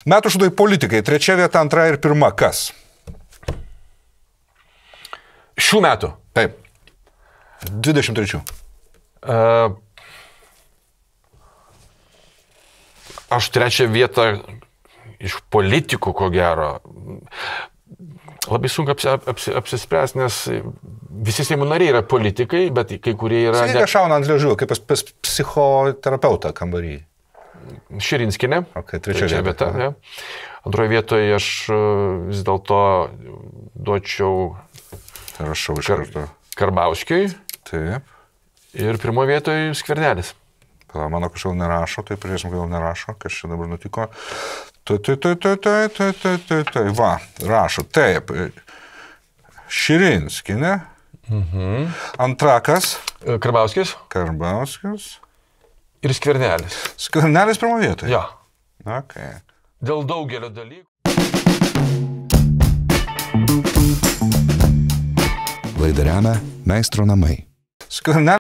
Metų šūdai politikai. 3 vieta, 2 ir 1. Kas? Šių metų. Taip. 23. Aš 3 vietą iš politikų, ko gero. Labai sunku apsispręsti, nes visi Seimo nariai yra politikai, bet kai kurie yra... Sakyk, šauna ant liežuvio, kaip pas psichoterapeutą kambarį. Širinskienė. Okay, 3 vieta. Ja. 2 vietoje aš vis dėlto duočiau Rašau iš karto. Karbauskiui. Taip. Ir 1 vietoje Skvernelis. Mano kažkaip nerašo, tai priešim, kodėl nerašo, kas čia dabar nutiko. Va, rašo. Taip. Širinskienė. Antrakas. Karbauskis. Ir Skvernelis. Skvernelis 1 vietoje? Ja. Okay. Dėl daugelio dalykų. Laidą remia Meistro namai. Skvernelis